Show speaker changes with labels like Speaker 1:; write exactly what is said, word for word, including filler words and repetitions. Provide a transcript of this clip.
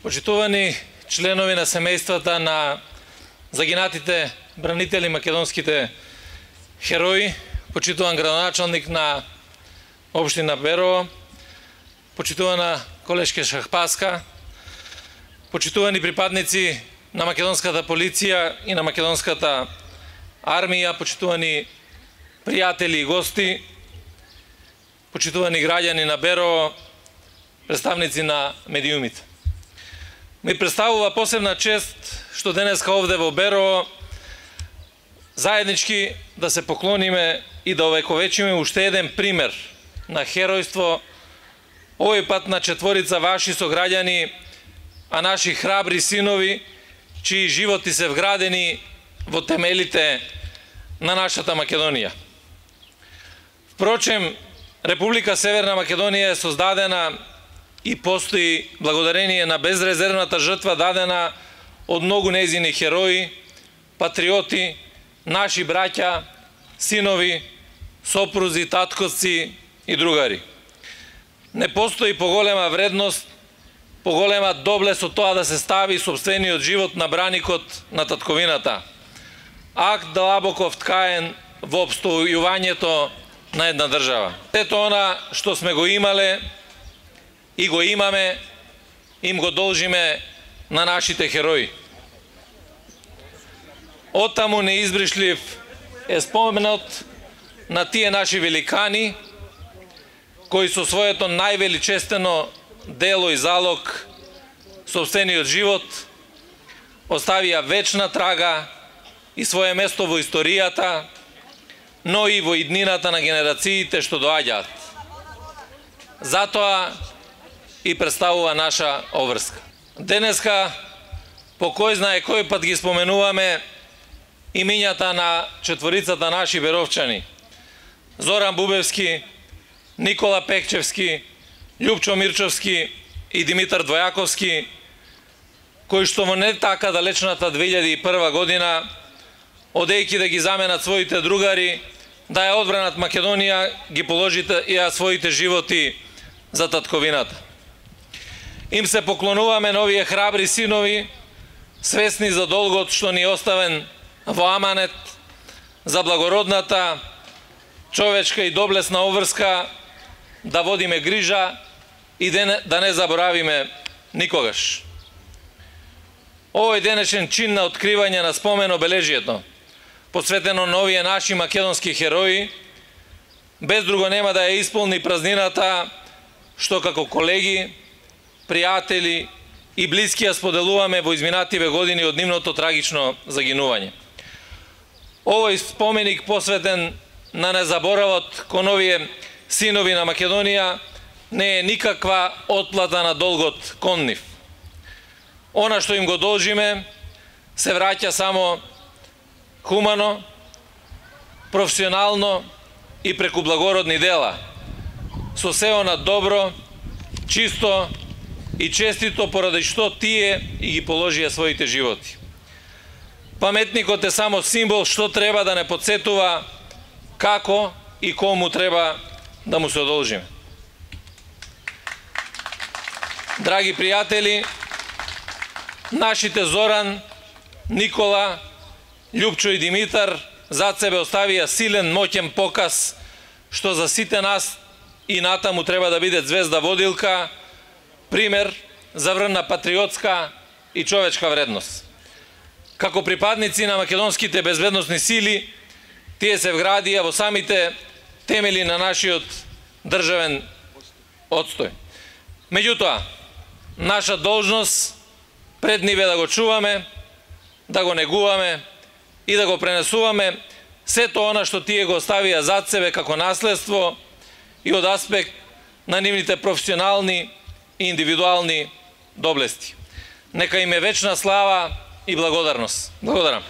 Speaker 1: Почитувани членови на семејствата на загинатите бранители македонските херои, почитуван градоначалник на општина Берово, почитувана колешка Шахпаска, почитувани припадници на македонската полиција и на македонската армија, почитувани пријатели и гости, почитувани граѓани на Берово, представници на медиумите. Ми представува посебна чест што денеска овде во Берово заеднички да се поклониме и да овековечиме уште еден пример на херојство, овој пат на четворица ваши сограѓани, а наши храбри синови, чии животи се вградени во темелите на нашата Македонија. Впрочем, Република Северна Македонија е создадена и постои благодарение на безрезервната жртва дадена од многу нејзини херои, патриоти, наши браќа, синови, сопрузи, татковци и другари. Не постои поголема вредност, поголема доблест од тоа да се стави сопствениот живот на браникот на татковината. Акт длабоко вткаен во обстојувањето на една држава. Сето она што сме го имале и го имаме, им го должиме на нашите херои. Оттаму неизбришлив е споменот на тие наши великани, кои со своето највеличествено дело и залог, сопствениот живот, оставија вечна трага и свое место во историјата, но и во иднината на генерациите што доаѓаат. Затоа и представува наша обврска. Денеска, по кој знае кој пат ги споменуваме имињата на четворицата наши беровчани: Зоран Бубевски, Никола Пекчевски, Љупчо Мирчовски и Димитар Двојаковски, кои што во не така далечната две илјади и прва година, одејќи да ги заменат своите другари, да ја одбранат Македонија, ги положите и своите животи за татковината. Им се поклонуваме на овие храбри синови, свесни за долгот што ни оставен во аманет, за благородната, човечка и доблесна обврска, да водиме грижа и да не заборавиме никогаш. Овој денешен чин на откривање на спомен обележието, посветено на овие наши македонски херои, без друго нема да ја исполни празнината што како колеги, пријатели и блиски ја споделуваме во изминативе години од нивното трагично загинување. Овој споменик посветен на незаборавот кон овие синови на Македонија не е никаква отплата на долгот кон нив. Она што им го должиме се враќа само хумано, професионално и преку благородни дела, со се она добро, чисто и честито поради што тие и ги положија своите животи. Паметникот е само символ што треба да не подсетува како и кому треба да му се одолжиме. Драги пријатели, нашите Зоран, Никола, Љупчо и Димитар зад себе оставија силен, моќен показ што за сите нас и натаму треба да биде звезда водилка, пример за врна патриотска и човечка вредност. Како припадници на македонските безбедносни сили, тие се вградија во самите темели на нашиот државен одстој. Меѓутоа, наша должност пред нив е да го чуваме, да го негуваме и да го пренесуваме сето она што тие го оставија зад себе како наследство и од аспект на нивните професионални и индивидуални доблести. Нека им е вечна слава и благодарност. Благодарам.